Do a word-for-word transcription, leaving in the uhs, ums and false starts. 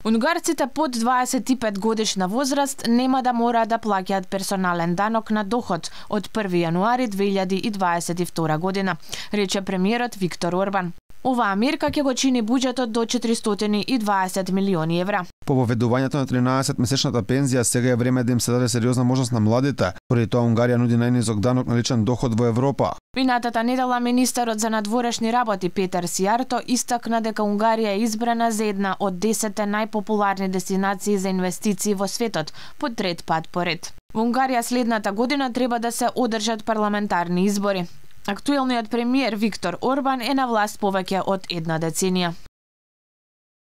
Унгарците под дваесет и пет годишна возраст нема да мора да плаќаат персонален данок на доход од први јануари две илјади и дваесет и втора година, рече премиерот Виктор Орбан. Оваа мерка ќе го чини буџетот до четиристотини и дваесет милиони евра. По воведувањето на тринаесет месечната пензија сега е време да им се даде сериозна можност на младите, поради тоа Унгарија нуди најнизок данок на личен доход во Европа. Минатата недела министерот за надворешни работи Петер Сијарто истакна дека Унгарија е избрана за една од десетте најпопуларни дестинации за инвестиции во светот, по трет пат поред. Во Унгарија следната година треба да се одржат парламентарни избори. Актуелниот премиер Виктор Орбан е на власт повеќе од една деценија.